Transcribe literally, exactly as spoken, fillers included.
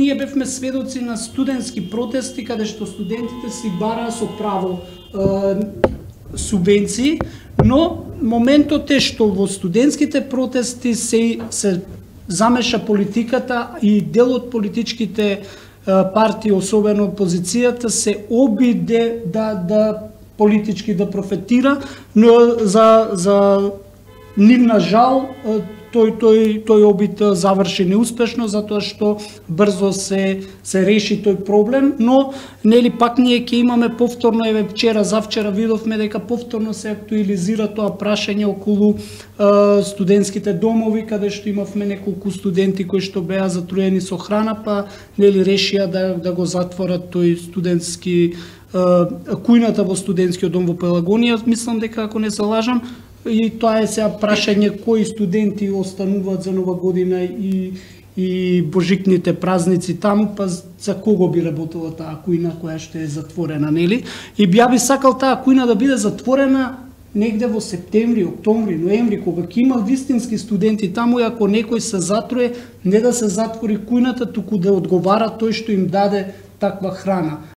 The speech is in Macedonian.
ние бевме сведоци на студентски протести каде што студентите си бараа со право е, субвенции, но моментот е што во студентските протести се се замеша политиката и дел од политичките партии, особено опозицијата, се обиде да да политички да профитира, но за за нивна жал тој тој тој обид заврши неуспешно затоа што брзо се се реши тој проблем, но нели пак ние ќе имаме повторно, еве вчера завчера видовме дека повторно се актуализира тоа прашање околу е, студентските домови, каде што имавме неколку студенти кои што беа затруени со храна, па нели решија да да го затворат тој студентски е, кујната во студентскиот дом во Пелагонија. Мислам дека ако не се лажам, и тоа е сега прашање кои студенти остануваат за Нова година и и божикните празници таму, па за кого би работела таа кујна која што е затворена, нели? И би ја би сакал таа кујна да биде затворена негде во септември, октомври, ноември, кога ќе има вистински студенти таму, и ако некој се затруе, не да се затвори кујната, туку да одговара тој што им даде таква храна.